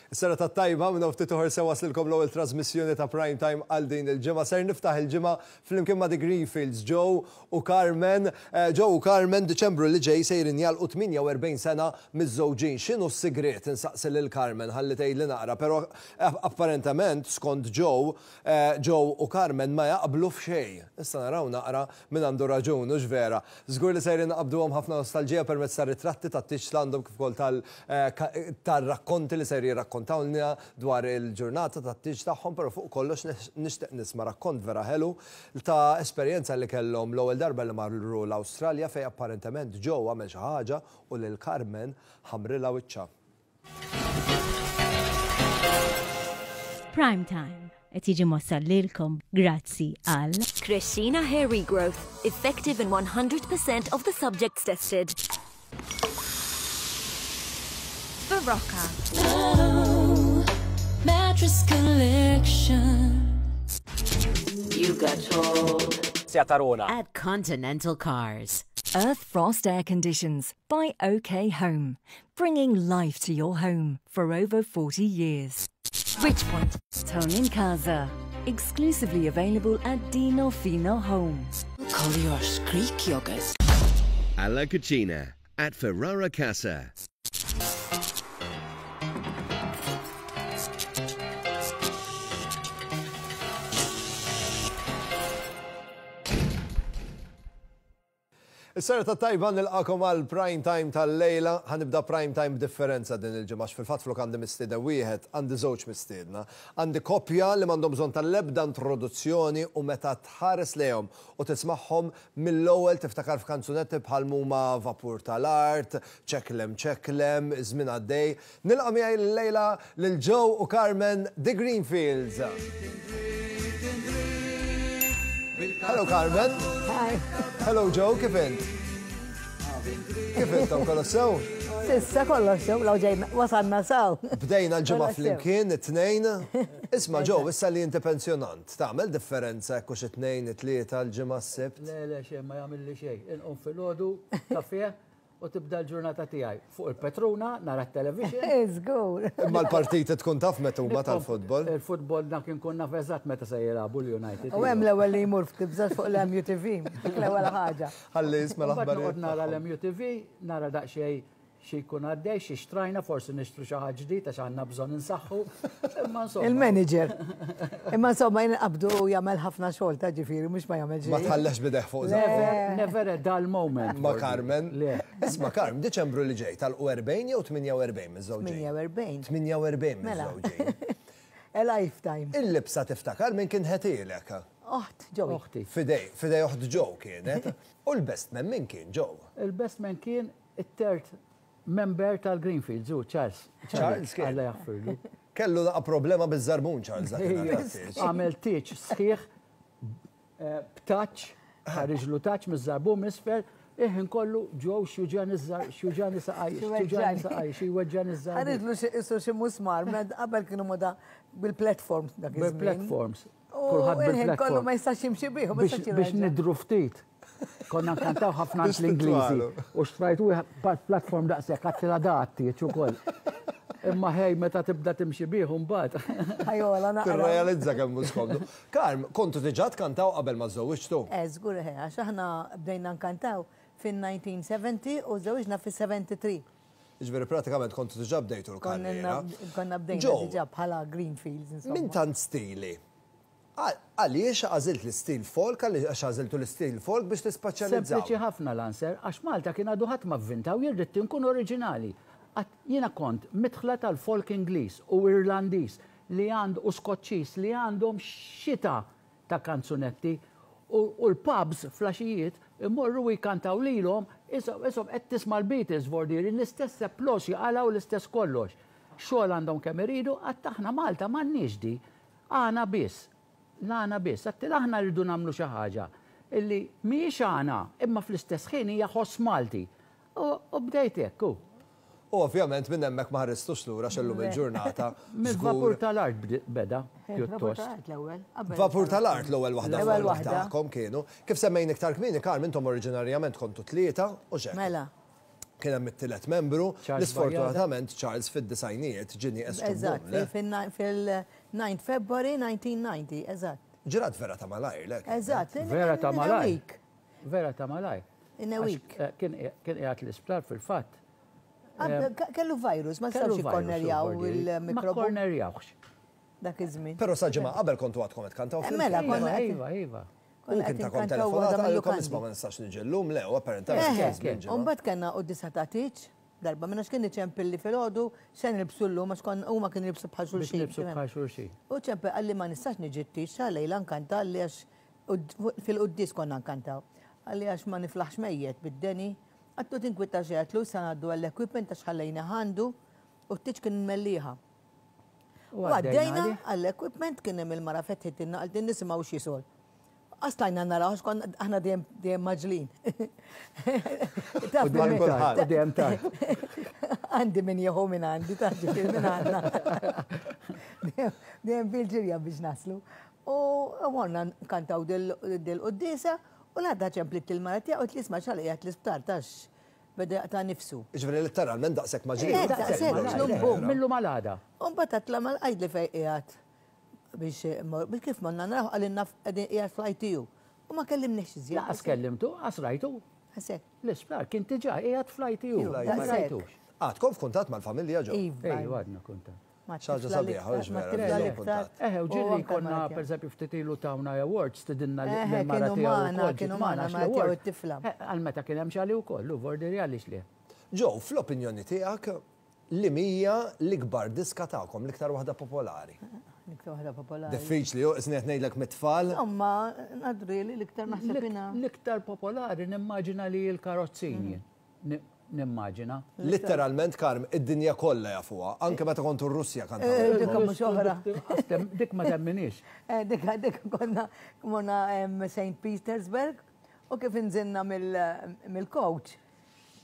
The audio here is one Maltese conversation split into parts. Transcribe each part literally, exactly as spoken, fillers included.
Is-serata t-tajba minn ftit oħra se waslilkom l-ewwel trasmissjoni ta' Prime Time għal din il-ġimgħa. Ser niftaħ il-ġimgħa flimkien ma' The Greenfields, Joe u Carmen. Eh, Joe u Carmen Diċembru li ġej sejrin jagħlqu tmienja u erbgħin sena miżżewġin. X'inhu s-sigriet insaqsi lil Carmen ħalli tgħidli naqra, però eh, apparentement skont Joe, eh, Joe u Carmen ma jaqblu f'xejn. Issa naraw naqra min għandu raġun, hux vera. Żgur li sejrin naqbduhom ħafna nostalġija permezz tar-ritratti tat-tieġ li għandhom kif ukoll tal-rakkonti li ser jirrakkontawlna dwar il-ġurnata tat-tieġ tagħhom, però fuq kollox nixtieq nisma' rakkont vera ħelu ta' esperjenza li kellhom l-ewwel darba li marru l-Awstralja fejn apparentement Joe għamel xi ħaġa u lil Carmen ħamrilha wiċċha. Prime Time qed jiġi mwassal lilkom grazzi għal Crescina Hair Regrowth, effective in one hundred percent of the subjects tested. Barocca. Mattress Collection. You got told. Tarona. At Continental Cars. Earth Frost Air Conditions by O K Home, bringing life to your home for over forty years. Richpoint, Tony Casa, exclusively available at Dino Fino Home. Collier's Greek yogurt. Alla Cucina at Ferrara Casa. Is-serata t-tajba, nilqagħkom għal Prime Time tal-lejla. Ħa nibda Prime Time differenti din il-ġimgħa. Fil-fatt flok għandi mistieden wieħed, għandi żewġ mistiedna. Għandi koppja li m'għandhom bżonn tal-ebda introduzzjoni u meta tħares lejhom u tismagħhom mill-ewwel tiftakar f'kanzunetti bħal huma Vapur tal-Art, Ċeklem Ċeklem, Żmien Għaddej. Nilqa' miegħi l-lejla lil Joe u Carmen The Greenfields. Hello, Carmen. Hi. Hello, Joe, kif int? Kif intom, kollox sew? S'issa kollox sew, law ġejna wasalna sew. Bdejna l-ġimgħa Kollox sew. Flimkien, it-tnejn. Isma' Joe, issa li inti pensjonant, tagħmel differenza hekk hux it-tnejn, it-tlieta, l-ġimgħa, s-sibt? Le, le, xejn ma jagħmel li xejn. Inqum filgħodu, kafè u tibda l-ġurnata tiegħi. Fuq il-Petruna, nara t-television. Żgur. Imma l-partiti tkun taf meta huma tal-futbol. Il-futbol dak inkun naf eżatt meta se jilagħbu l-United. U hemm l-ewwel li jmur f'tibżax fuq l-M U T V, dik l-ewwel ħaġa. Ħalli jisma' Mbagħad noqgħod l-aħbarijiet. Nara Tagħhom. l-M U T V, nara daqsxejn xi jkun għaddej, xi xtrajna, forsi nixtru xi ħaġa ġdid għax għandna bżonn insaħħu. Imma insomma. Il-manager. Imma insomma jien qabdu u jagħmel ħafna xogħol ta' ġifieri mhux ma jagħmel Ma xejn. tħallex bideh fuq żaqq. Never, never a dull moment. Ma' Carmen. Le. Isma' Carmen, Diċembru li ġej tal-erbgħin jew tmienja u erbgħin miż-żewġin? tmienja u erbgħin. tmienja u erbgħin Mela. miż-żewġin. A lifetime. Il-libsa tiftakar minn kien ħetielek? Oħt, Joey. Oħti. Fidej, fidej oħt Joe kienet. U l-best man min kien, Joe? Il-best man kien it-third member tal-Greenfields, u Charles. Charles kien. Alla jaħfirlu. Kellu naqa problema biż-żarbun Charles dakinhar tat-tieġ. Għamel tieġ sħiħ eh, b'taċ, ħariġlu taċ miż-żarbun misfer, iħin kollu ġew xjuġani żar, xjuġani saqaj, xjuġani saqaj, xi weġġani żarbun. Ħaridlu xi isu xi musmar, med qabel kienu moda bil-platforms dak iż-żmien. Bil-platforms. U Kulħadd il-ħin kollu bil-platform. ma jistax jimxi bih, ma Biex jistax biex jirraġa. nidru ftit. Konna nkantaw ħafna Biex l-Ingliżi. titwalu. U xtrajt wieħed platform daqshekk għattila datti ukoll. Imma ħej meta tibda timxi bih mbagħad. Ħajola naqra. Tirrealizza kemm mhux skomdu. Karm, kontu diġà tkantaw qabel ma żewġtu? Eh, żgur eħe, għax aħna bdejna nkantaw fin-elf disa' mija u sebgħin u żewġna fis-sebgħa u sebgħin. Ġifieri pratikament kontu diġà bdejtu l-karriera. Konna bdejna Joe, diġà bħala Greenfields, insomma. Minn tant stili, għal- għaliex għażilt l-istil folk, għaliex għażiltu l-istil folk biex tispeċjalizzaw? Sempliċi ħafna l-answer, għax Malta kien għadu ħadd ma vvintaw, jien ridt inkun oriġinali. Għat- Jiena kont midħla tal-folk Ingliż u Irlandiż li għand u Skoċċiż li għandhom xita ta' kanzunetti u, u l-pubs flaxijiet imorru u jkantaw lilhom isom isom qed tisma' l-Beatles vordiri l-istess applaws jaqalgħu l-istess kollox. Xogħol għandhom kemm iridu, għax aħna Malta m'għandniex di. Għana biss. L-għana biss. Għax aħna rridu nagħmlu xi ħaġa illi mhijiex għana, imma fl-istess ħin hija ħoss Malti. U u bdejt hekk, u. U ovvjament minn hemmhekk ma ħaristux lura x'ellum il-ġurnata. Mill-vapur żgur- tal-art bdi- beda, Vapur pjuttost. tal-art l-ewwel. qabel Vapur tal-art l-ewwel waħda L-ewwel folk waħda. tagħkom kienu. Kif semmejn iktar kmieni, Carmen, intom oriġinarjament kontu tlieta u xek. Mela. Kien hemm it-tielet membru, l-isfortunatament Charles fid-disgħinijiet ġie nieqes. Eżatt, fil-nine February nineteen ninety, eżatt. Ġrat vera ta' malajr, lek. Eżatt. Vera ta' malajr. Vera ta' malajr. In a week. Kien qiegħed l-isptar fil-fatt. Kellu virus, ma stawx ikkornerjaw il-mikrobu. Ma kornerjawx. Dak iż-żmien. Però sa ġimgħa qabel kontu għadkom qed kantaw fil-. Mela, konna. Iva, iva. U kien ta' kon telefonata għalkom isma' ma nistax niġi llum, le, u apparentament. U mbagħad kellna quddisa ta' tieġ, darba minna x'kien iċempilli filgħodu, se nilbsu llum għax kon huma kienu jilbsu bħal xulxin. Biex nilbsu bħal xulxin. U ċempel qalli ma nistax niġi t-tieġ sa lejla nkanta qalli għax fil-quddis konna nkantaw. Qalli għax ma niflaħx mejjet bid-deni. Għattu tinkwita xejn għatlu sa ngħaddu għall-equipment għax ħallejna għandu u t-tieġ kien mellieħa. U għaddejna għall-equipment kien hemm il-mara fetħitilna qaltilna nisimgħu x'jisol. Għastajna naraw, għax konna aħna dejjem dejjem maġlin. Taf Dejjem tard, dejjem tard. Għandi min jieħu minn għandi, taf ġifieri minn għandna. Dejjem fil-ġirja biex naslu. U morna nkantaw dil-quddiesa u l-għadda ċemplit il-mara tiegħu u tlisma' x'għal qiegħed l-isptar tax beda jaqta' nifsu. Ġifieri letteralment daqshekk maġlin. Eh, daqshekk, bum. Millu mal-għada. U mbagħad għatla mal-qajd li fejn qiegħed. Biex biex kif morna naraw qalilna qegħdin qiegħed fl-I T U. U ma kellimniex iżjed. Laqas kellimtu, qas rajtu. Għasek. L-isptar kien diġà qiegħed fl-I T U. Ma rajtux. Għadkom f'kuntatt mal-familja ġew? Iva. Ejju, għadna kuntatt. Xaġa sabiħa, hux vera, kuntatt. Eħe, u ġieli konna, pereżempju, ftit ilu tawna awards, stidinna l-mara kienu tiegħu magħna, wkoll, kienu ġiet magħna magħna, għax mara tiegħu l-award. t-tifla. Għal meta kien hemm xali wkoll, u vordi għaliex le. Ġew, fl-opinjoni tiegħek, li mija l-ikbar diska tagħkom, l-iktar waħda popolari? L-iktar waħda popolari. Diffiċli, jo, isni qed ngħidlek mit-tfal. Insomma, nadri li l-iktar naħseb jiena. L-iktar popolari nimmaġina li l-karozzini. Nimmaġina. Literalment, Karm, id-dinja kollha jafuha, anke meta kontu r-Russja kantaw. Eh, dik mhux oħra. Dik ma temminix. Eh, dik, dik konna morna Saint Petersburg u kif inżilna mill-coach.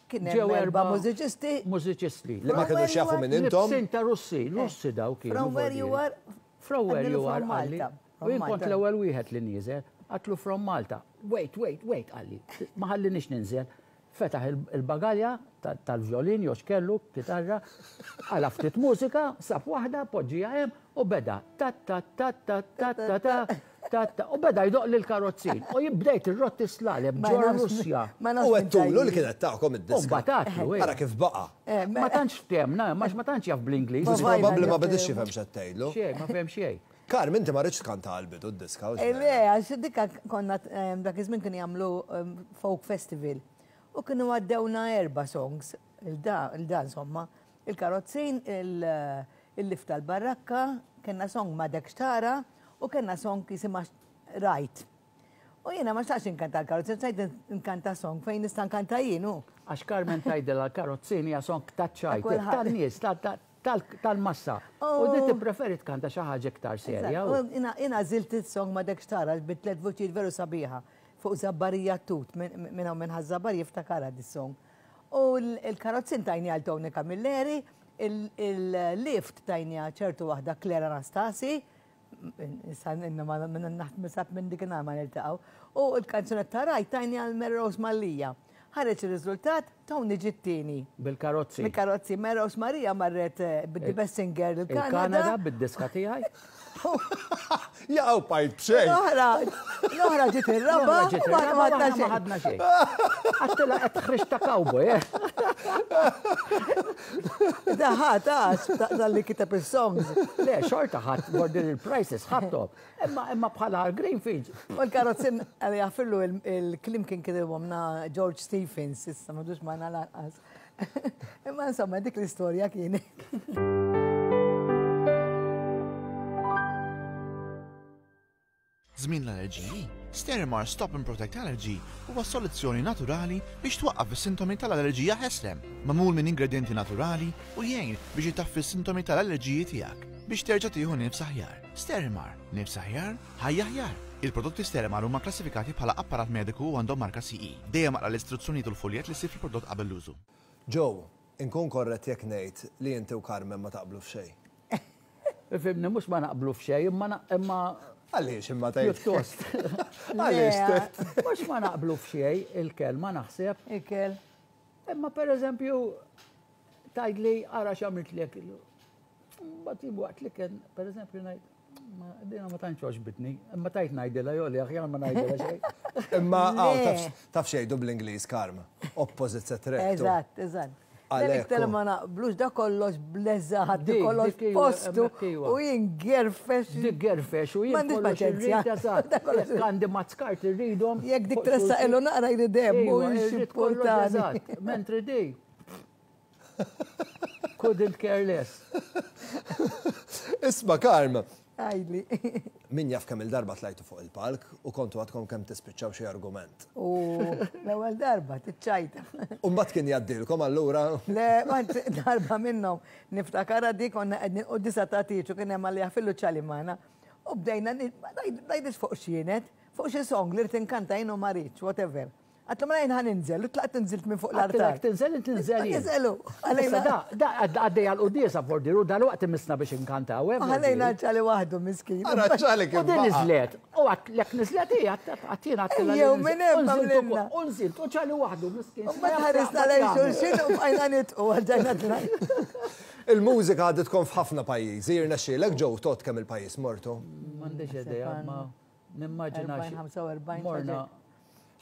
Kien hemm Ġew erba' erba' mużiċisti. Mużiċisti. Li ma kinux jafu minn intom. Libsin ta' Russi, Russi daw kienu. From where you are. From where you are, From qalli. Malta. U jien kont l-ewwel wieħed li nieżel, għatlu from Malta. Wait, wait, wait, qalli. Ma ħallinix ninżel. Fetaħ il-bagalja tal-violin, jew x'kellu, kitarra, għala ftit mużika, sab waħda, poġġija hemm u beda ta ta ta ta ta ta ta ta ta u beda jdoq lil karozzin. U jibdejt ir-rotti slaleb Ma ġo nafx Russja. ma nafx U minn għedtulu li tajjeb. kienet tagħkom id-diska. U mbagħad għatlu, Ara kif baqa'. Eh, Ma tantx ftemna, ma ma tantx jaf bl-Ingliż. Ma Probabbli ma Vajna, bidix jifhem x'qed tgħidlu. Xejn, ma fhem xejn. Karm, inti ma rridx tkanta għall-bidu d-diska, u Eh, x'vera? le, għax dikka konna, ehm, dak iż-żmien kienu jagħmlu, ehm, folk festival. U kienu għaddewna erba' songs, il-da, il-da insomma, il-karozzin, il-lift tal-barrakka, kellna song ma dek xtara u kellna song jisimha Rajt. U jiena ma xtaqx inkanta l-karozzin, xtaqt inkanta song fejn nista' nkanta jien, hu. Għax Carmen tgħidilha l-karozzin hija song taċ-ċajt, Kulħadd. tan-nies, tal-massa. U di tippreferi tkanta xi ħaġa iktar serja. U jiena, jiena għażilt is-song ma dek xtara bi tliet vuċijiet veru sabiħa fuq Zabbarija Tut, minn hawn minn Ħaż-Żabbar jiftakarha dis-song. U l-karozzin tajni għal Tony Camilleri, il-lift tajni għal ċertu waħda Clara Anastasi, issa inna ma naħt minn dik in-nhar ma niltaqgħu. U l-kanzunetta Rajt tajni għal Mary Rose Mallia. Ħareġ ir-riżultat, Tony ġittini. Bil-karozzi. Bil-karozzi. Mary Rose Maria marret, eh, bid-The Best Singer il-Kanada. Il-Kanada bid-diska tiegħi. Jaqgħu pajt b'xejn. L-oħra, l-oħra ġiet ir-raba', L-oħra ġiet u ma ir-raba', ħadna ma xejn. ħadna xejn. Għattila qed tħriġ ta' cowboy, eh? Da ħadd, għax, dal-li kiteb is-songs. Le, xorta ħadd, border il-prices ħadthom. Imma, imma bħala Greenfields. U l-karozzin, għalli jaffillu il-klim kien kitibhom na George Stephens, issa m'għadux magħna lanqas. Imma insomma, dik l-istorja kienet. Żmien l-allerġiji, Sterimar Stop and Protect Allergy huwa soluzzjoni naturali biex twaqqaf is-sintomi tal-allerġija ħeslem, magħmul minn ingredienti naturali u jgħin biex itaffi s-sintomi tal-allerġiji tiegħek biex terġa' tieħu nifs aħjar. Sterimar, nifs aħjar, ħajja aħjar. Il-prodotti Sterimar huma klassifikati bħala apparat mediku u għandhom marka C E. Dejjem aqra l-istruzzjonijiet u l-foljet li ssib fil-prodott qabel l-użu. Joe, inkun korrett jekk ngħid li inti u Carmen ma taqblu f'xejn. Ifhimni, mhux ma naqblu f'xejn, imma na-, imma Għaliex imma tgħid? Pjuttost. Għaliex Le. tgħid? Mhux ma naqblu f'xejn, il-kelma naħseb. Il-kel. Imma per eżempju, tgħidli ara x'għamiltlek. Mbagħad waqt li kien, per eżempju, ngħid, dina ma tantx għoġbitni, imma tajt ngħidilha jew li aħjar ma ngħidilha xejn. Imma taf xejdu bl-Ingliż, Karm, opposites attract. Eżatt, eżatt. Iktar ma naqblux da kollox bleżat, kollox postu u jien gerfex. Dik gerfex u jien kollox irrid, eżatt. Għandi mazzkart irridhom. Jekk dik tressaq ilu naqra jrid hemm u jxipportani. Mentri di. Couldn't care less. Isma' Karm. Għajli. Min jaf kemm il-darba tlajtu fuq il-palk u kontu għadkom kemm tispiċċaw xi argument. U l-ewwel darba tiċċajta. U mbagħad kien jgħaddilkom allura. Le, darba minnhom niftakara dik konna qegħdin quddiesa ta' tieġ u kien hemm għalija fillu ċali magħna. U bdejna ngħidix fuq x'kienet, fuq xi song li rrid inkanta jien u ma rridx, whatever. Għatlu ma jien ħa ninżel, u tlaqt nżilt minn fuq l-artar. Tinżel, tinżel. Ninżelu. Da, da, għaddej għal-quddiesa fordiru, dal-waqt imissna biex inkantaw. Ħallejna ċali waħdu miskin. Ara ċali kif. U din niżlet. U għatlek niżlet hija, għattina għattila. Jew minn hemm għamlilna. U nżilt, u ċali waħdu miskin. U ma tħarisna lejn xulxin u bqajna nitqu għalġajna tlajna. Il-mużika għaditkom f'ħafna pajjiżi, jirnexxielek ġew tot kemm il-pajjiż mortu. M'għandix idea, ma nimmaġina. Morna.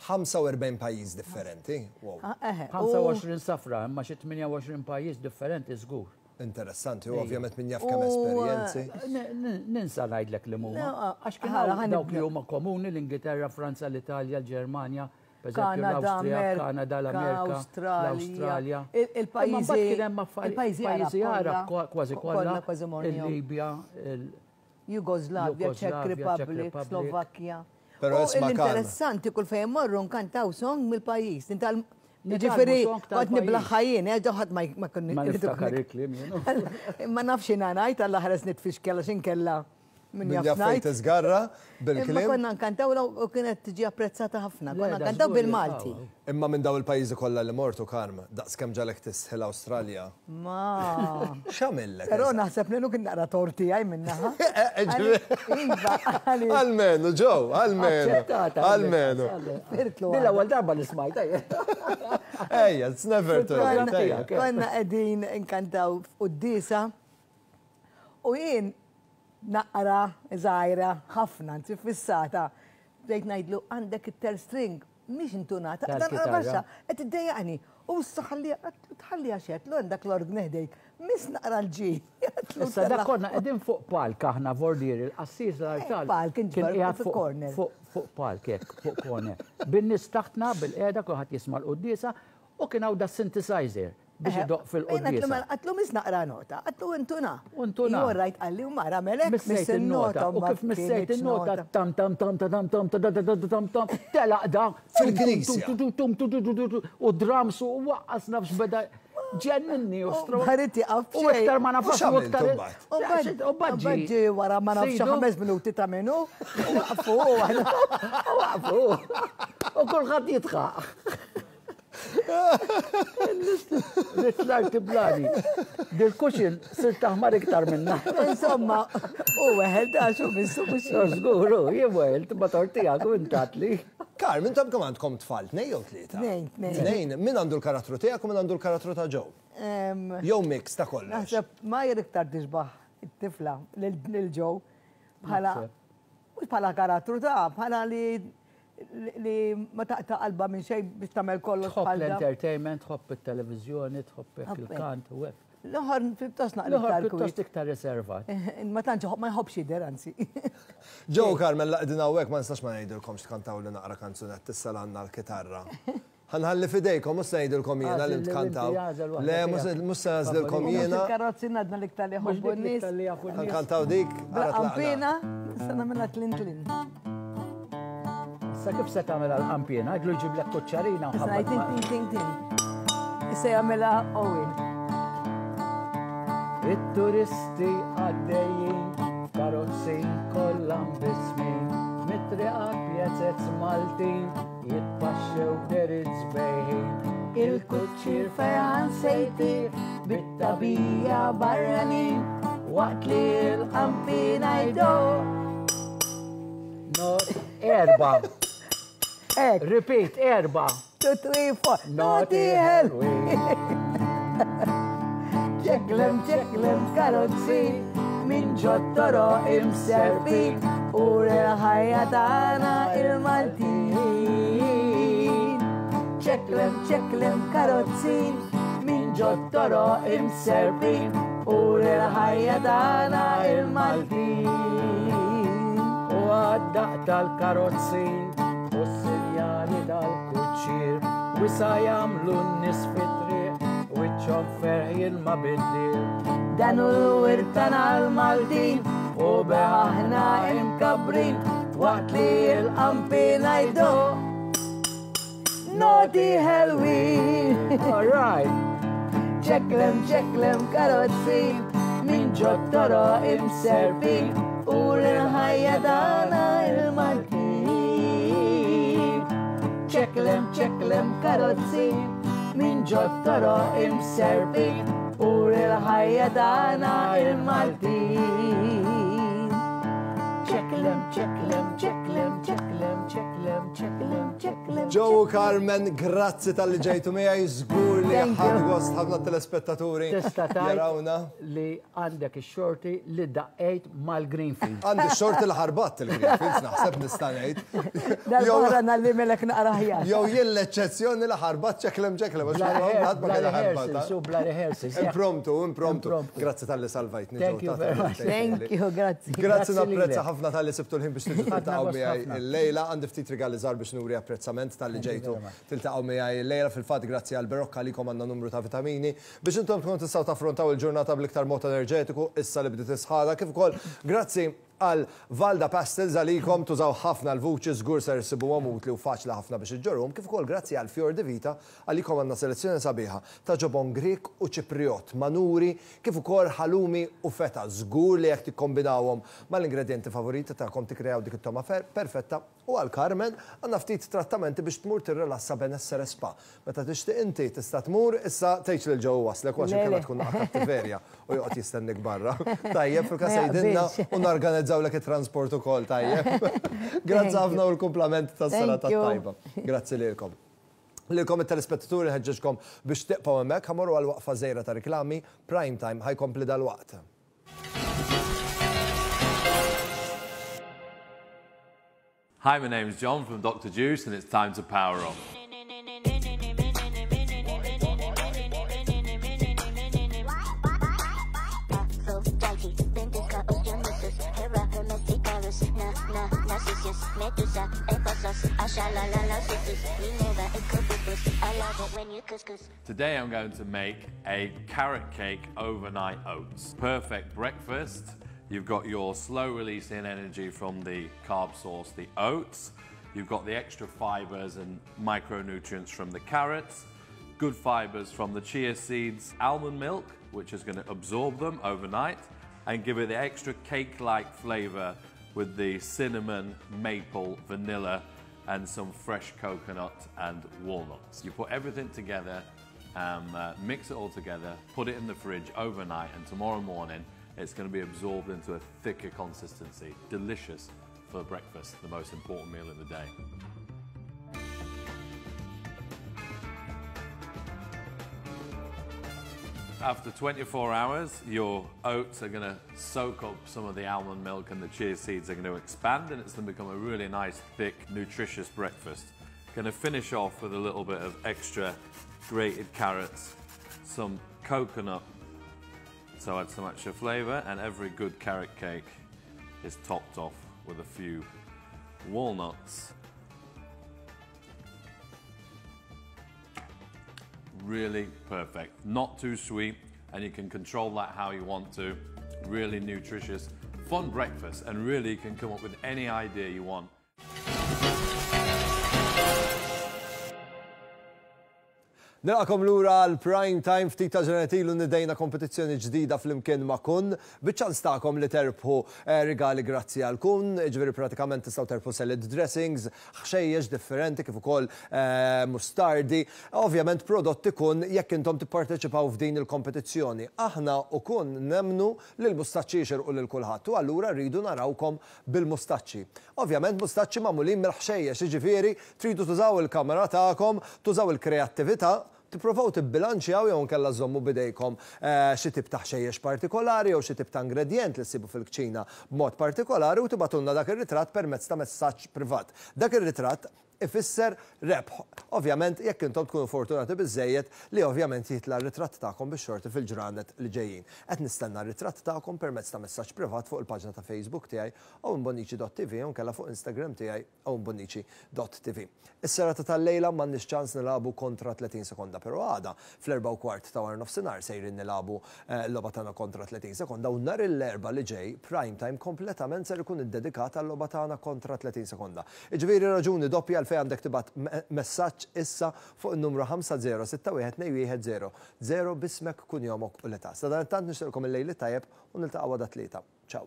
ħamsa u erbgħin pajjiż differenti. Wow. ħamsa u għoxrin safra, imma xi tmienja u għoxrin pajjiż differenti żgur. Interessanti, u ovvjament min jaf kemm esperjenzi. Ninsa ngħidlek li huma. Għax kien hawn dawk li huma komuni l-Ingilterra, Franza, l-Italja, l-Ġermanja, pereżempju l-Awstrija, Kanada, l-Amerika, l-Awstralja. Il-pajjiżi Arab kważi kollha, il-Libja, Jugoslavja, Czech Republic, Slovakkja. Però isma' Interessanti kull fejn morru nkantaw song mill-pajjiż. Ġifieri kont niblaħħa jien, eh, ħadd ma kien. Ma niftakar il-kliem jien. Ma nafx jiena ngħid alla ħares nitfixkel għax inkella min jaf fejn tiżgarra bil-kliem. Imma konna nkantaw u kienet tiġi apprezzata ħafna. Konna nkantaw bil-Malti. Imma minn daw il-pajjiżi kollha li mortu, Karm, daqs kemm ġalek tisħi l-Awstralja. Ma. X'għamillek? Però naħseb li kien naqra torti għaj minnaħa. Iva, Almenu, Joe, almenu. Almenu. L-ewwel darba li smajta. Ejja, it's never too late. Konna qegħdin nkantaw f'quddiesa u jien naqra żgħira ħafna, anzi fissata. Bdejt ngħidlu għandek it-ter string, mhix intunata, dan baxxa, qed iddejjaqni. U issa tħalli għax qed għandek l-ordni ħdejk. Miss naqra l-ġi. Issa dak konna qegħdin fuq palk aħna vordieri, l-qassis l-artal. Palk kien qiegħed fuq corner. Fuq palk hekk, fuq corner. Bin-nies taħtna bil-qiegħda kulħadd jisma' l-quddiesa u kien hawn da synthesizer biex idoq fil-quddiesa. Għatlu miss naqra nota, għatlu intuna. Intuna. Ju rajt qalli u mara melek miss il-nota. U kif missejt il-nota, tam tam tam tam tam tam tam tam tam telaq da. Fil-knisja. U drums u waqqas nafx beda. Ġenninni u stro. Ħarid jaqaf. U iktar ma nafx u iktar. U baġġi wara ma nafx ħames minuti ta' minnu. Waqfu. Waqfu. U kulħadd jitħaq. Ritlar tiblani. Dil-kuxin sir taħmar iktar minna. Insomma, u weħel da xu missu mux. Żguru, jien weħel, ma tortijak u intatli. Karm, intom kemm għandkom tfal, tnejn jew tlieta? Tnejn, tnejn. Tnejn, min għandu l-karattru tiegħek u min għandu l-karattru ta' Joe? Jew mix ta' kollox. Naħseb ma iktar tixbaħ it-tifla lil Joe bħala mhux bħala karattru ta' bħala li li ma taqta' qalba minn xejn biex tagħmel kollox. Tħobb l-entertainment, tħobb it-televiżjoni, tħobb il-kant u hekk. L-oħor pjuttost naqra iktar pjuttost iktar riservat. Ma tantx ma jħobbx jidher anzi. Joe Carmen laqdin hawnhekk ma nistax ma ngħidilkomx tkantaw li naqra kanzunett issa għandna l-kitarra. Ħanħalli fidejkom, mhux se ngħidilkom jiena li tkantaw. Le, mhux se nagħżlilkom jiena. Il-karozzi ngħadna l-iktar li jħobbu n-nies. Ħankantaw dik. Qampina, se nagħmilha tlin tlin. Issa kif se tagħmel għall-qampina? Għidlu jġiblek kuċċarina u ħabba. Tin tin tin tin. Issa jagħmilha Owen. It-turisti għaddejjin, karozzi kollha mbismin, mit-triqat pjazez Maltin, jitpaxxew derit sbejħin. Il-kuċċir fejn se jtir, bit-tabija barranin, waqt li l-qampina jdoq. Not erba. Repeat, erba. two, three, four. Naughty ħelwin. Ċeklem, ċeklem karozzi minn ġot-toroq imserpin u l-ħajja tagħna il-Maltin. Ċeklem, ċeklem karozzin minn ġot-toroq imserpin u l-ħajja tagħna il-Maltin. U għad-daqq tal-karozzin u s-sinjali tal-kuċċier wisa jagħmlu n-nies fit-triq wiċċhom ferħ jilma bid-dir. Dan hu l-wirt tagħna l-Maltin u bih aħna imkabbrin waqt li l-qanpiena jdoqq. Naughty ħelwin. All right. Ċeklem, ċeklem karozzin minn ġot-toroq imserpin u l-ħajja tagħna il-Maltin. Ċeklem, ċeklem karozzin minn ġot-toroq imserpin u l-ħajja tagħna il-Maltin. Ċeklem, ċeklem, ċeklem, ċeklem, ċeklem, ċeklem, ċeklem. Joe u Carmen, grazzi talli ġejtu miegħi, żgur li Thank you. ħadu gost ħafna telespettaturi. Tista' tgħid Jarawna. li għandek ix-xorti li daqqejt mal-Greenfield. Għandi xorti li ħarbatt il-Greenfields, naħseb nista' ngħid. Dal-barra nallimelek naqra ħjar. Jew jien l-eċċezzjoni li ħarbat ċeklem ċeklem, għax Bla ma ħadd ma bla kien rehearsals, ħarbata. u bla rehearsals. Impromptu, impromptu. Impromptu. Grazzi talli salvajtni. Thank Joe, you ta' very much. Thank you, grazzi. Grazzi Grazzi napprezza lilek. ħafna talli sibtu l-ħin biex tiġu Ħadna tiltaqgħu gost miegħi ħafna. illejla. Għandi ftit rigali żgħar biex nuri apprezzament talli ġejtu tiltaqgħu miegħi illejla. Fil-fatt grazzi għal Berocca għalikom għandna numru ta' vitamini biex intom tkunu tistgħu taffrontaw il-ġurnata bl-iktar mod enerġetiku issa li bdiet isħana, kif ukoll grazzi għal Valda Pastels għalikom tużaw ħafna l-vuċi żgur ser issibuhom utli u faċli ħafna biex iġġorhom, kif ukoll grazzi għal Fior di Vita għalikom għandna selezzjoni sabiħa ta' ġobon Grek u Ċipriot, manuri, kif ukoll halloumi u feta. Żgur li jekk tikkombinawhom mal-ingredienti favoriti tagħkom tikkreaw dik it-toma fer- perfetta. U għal Carmen għandna ftit trattamenti biex tmur tirrilassa benessere spa. Meta tixtieq inti tista' tmur issa tgħidx lil Joe waslek għax Le, inkella le. tkun naqra kattiverja u joqgħod jistennik barra. Tajjeb, fil-każ Ma jgħidilna jaqbilx. u narganizzaw lek it-transport ukoll, tajjeb. Grazzi Thank ħafna u l-kumplament tas-sena Thank you. tat-tajba. Grazzi lilkom. Lilkom it-telespettaturi ħeġġeġkom biex tibqgħu hemmhekk, ħa mmorru għal waqfa żgħira ta' riklami, Prime Time ħa jkompli dalwaqt. Hi, my name's John from Doctor Juice, and it's time to power up. Aphrodite, Bendica, Dionysus, Hera, Hermes, Icarus, Na, Na, Narcissus, Medusa, Ephesus, Ashalalala, Sisus, Minerva, Ecobibus. I love it when you couscous. Today I'm going to make a carrot cake overnight oats. Perfect breakfast. You've got your slow releasing energy from the carb source, the oats. You've got the extra fibers and micronutrients from the carrots, good fibers from the chia seeds, almond milk, which is gonna absorb them overnight and give it the extra cake-like flavor with the cinnamon, maple, vanilla, and some fresh coconut and walnuts. You put everything together, um, uh, mix it all together, put it in the fridge overnight, and tomorrow morning it's gonna be absorbed into a thicker consistency. Delicious for breakfast, the most important meal of the day. After twenty-four hours, your oats are gonna soak up some of the almond milk and the chia seeds are gonna expand, and it's gonna become a really nice, thick, nutritious breakfast. Gonna finish off with a little bit of extra grated carrots, some coconut, so add some extra flavor, and every good carrot cake is topped off with a few walnuts. Really perfect, not too sweet, and you can control that how you want to. Really nutritious, fun breakfast, and really you can come up with any idea you want. Nilqagħkom lura għal Prime Time. Ftit ta' ġranet ilu nidejna kompetizzjoni ġdida flimkien ma' Kun, biċ-ċans tagħkom li terbħu eh, rigali grazzi għal Kun, ġifieri pratikament tistgħu terbħu salad dressings, ħxejjex differenti kif ukoll eh, mustardi, ovvjament prodotti Kun jekk intom tipparteċipaw f'din il-kompetizzjoni. Aħna u Kun nemmnu li l-mustaċċi jixirqu lil kulħadd u allura rridu narawkom bil-mustaċċi. Ovvjament mustaċċi magħmulin mill-ħxejjex, jiġifieri tridu tużaw il-kamera tagħkom, tużaw il-kreattività, tipprovaw tibbilanċjaw jew nkella żommu bidejkom eh, xi tip ta' ħxejjex partikolari jew xi tip ta' ingredient li ssibu fil-kċina b'mod partikolari u tibagħtulna dak ir-ritratt permezz ta' messaġġ privat. Dak ir-ritratt ifisser rebħ. Ovvjament, jekk intom tkunu fortunati biżejjed li ovvjament jitla' r-ritratt tagħkom bix-xorti fil-ġranet li ġejjin. Qed nistenna r-ritratt tagħkom permezz ta' messaġġ privat fuq il-paġna ta' Facebook tiegħi owenbonnici punt T V u nkella fuq Instagram tiegħi owenbonnici punt T V. Is-serata tal-lejla m'għandniex ċans nilagħbu kontra tletin sekonda, però għada fl-erbgħa u kwart ta' wara nofsinhar sejrin nilagħbu eh, l-logħba tagħna kontra tletin sekonda u nhar l-Erbgħa li ġej Prime Time kompletament ser ikun iddedikat għal-logħba tagħna kontra tletin sekonda. Iġifieri raġuni doppja għalfejn għandek tibgħat messaġġ issa fuq il-numru ħamsa żero sitta wieħed tnejn wieħed żero żero b'ismek, kunjomok u l-età. Sadanittant nixtieqilkom il-lejl tajjeb u niltaqgħu għada t-Tlieta. Ciao.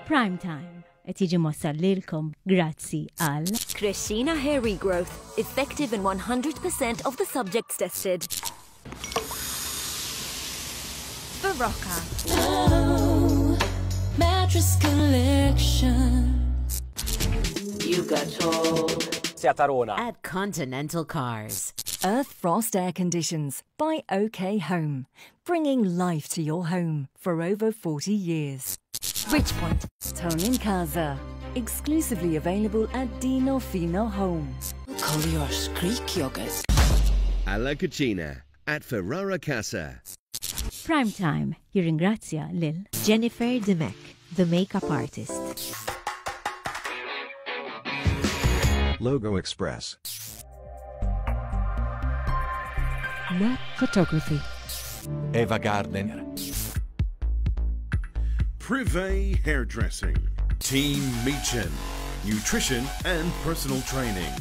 Prime Time qed jiġi mwassal lilkom grazzi għal Crescina Hair Regrowth, effective in one hundred percent of the subjects tested. Barocca. Oh, mattress collection. You got told. At Continental Cars. Earth Frost Air Conditions by OK Home, bringing life to your home for over forty years. Richpoint, Tony Casa, exclusively available at Dino Fino Home. Kolios Greek yogurt. Alla Cucina at Ferrara Casa. Prime Time jirringrazzja lil Jennifer Demek, the makeup artist. Logo Express. Mac Photography. Eva Gardner. Privé Hairdressing. Team Meechan. Nutrition and personal training.